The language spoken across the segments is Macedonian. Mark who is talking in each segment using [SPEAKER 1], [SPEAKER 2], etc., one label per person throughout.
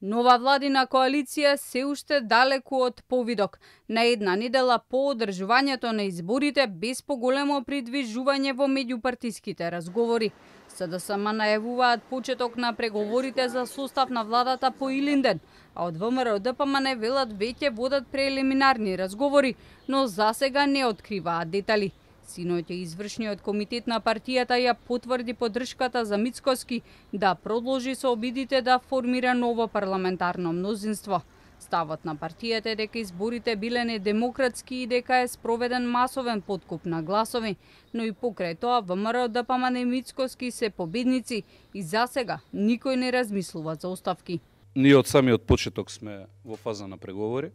[SPEAKER 1] Нова владина коалиција се уште далеку од повидок. На една недела по одржувањето на изборите без поголемо придвижување во меѓупартиските разговори. СДСМ најавуваат почеток на преговорите за состав на владата по Илинден, а од ВМРО ДПМН велат веќе водат прелиминарни разговори, но засега не откриваат детали. Синоќа извршниот комитет на партијата ја потврди поддршката за Мицкоски да продолжи со обидите да формира ново парламентарно мнозинство. Ставот на партијата е дека изборите биле недемократски и дека е спроведен масовен подкуп на гласови, но и покрај тоа ВМРО ДПМН и Мицкоски се победници и засега никој не размислува за оставки.
[SPEAKER 2] Ние од самиот почеток сме во фаза на преговори.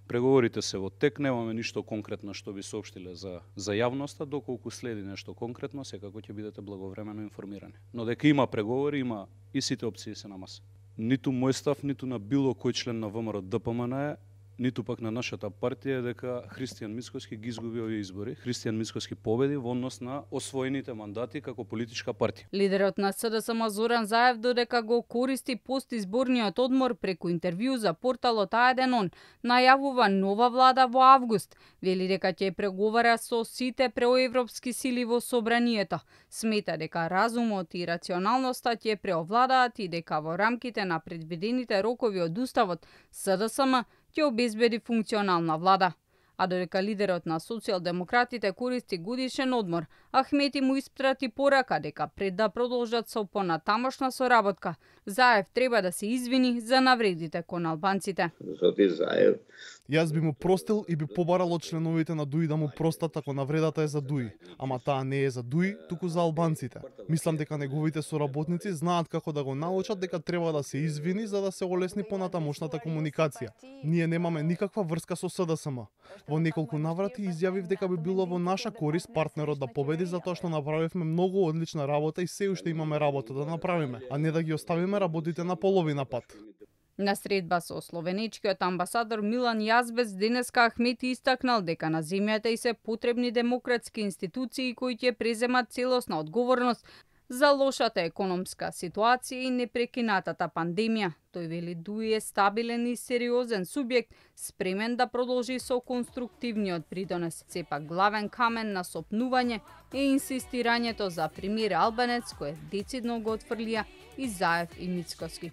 [SPEAKER 2] Преговорите се во тек, немаме ништо конкретно што би соопштиле за јавноста, доколку следи нешто конкретно, секако ќе бидете благовремено информирани. Но дека има преговори, има и сите опции се на маса. Ниту мој став, ниту на било кој член на ВМРО ДПМН, ниту пак на нашата партија е дека Христијан Мицкоски ги изгуби овие избори. Христијан Мицкоски победи во однос на освоените мандати како политичка партија.
[SPEAKER 1] Лидерот на СДСМ Зоран Заев додека го користи постизборниот одмор преку интервју за порталот А1 најавува нова влада во август. Вели дека ќе преговара со сите проевропски сили во собранието. Смета дека разумот и рационалноста ќе преовладаат и дека во рамките на предвидените рокови од уставот СДСМ ќе обезбеди функционална влада. А додека лидерот на социјалдемократите користи годишен одмор, Ахмети му испрати порака дека пред да продолжат со понатамошна соработка, Заев треба да се извини за навредите кон албанците.
[SPEAKER 3] Јас би му простил и би побарал од членовите на ДУИ да му простат ако навредата е за ДУИ, ама таа не е за ДУИ, туку за албанците. Мислам дека неговите соработници знаат како да го научат дека треба да се извини за да се олесни понатамошната комуникација. Ние немаме никаква врска со СДСМ. Во неколку наврати изјавив дека би било во наша корист партнерот да победи затоа што направивме многу одлична работа и се уште имаме работа да направиме, а не да ги оставиме работите на половина пат.
[SPEAKER 1] На средба со словенечкиот амбасадор Милан Јазбец денеска Ахмети истакнал дека на земјата и се потребни демократски институции кои ќе преземат целосна одговорност за лошата економска ситуација и непрекинатата пандемија. Тој вели ДУИ е стабилен и сериозен субјект, спремен да продолжи со конструктивниот придонес. Сепак главен камен на сопнување е инсистирањето за премиер албанец кој децидно го отфрлија и Заев и Мицкоски.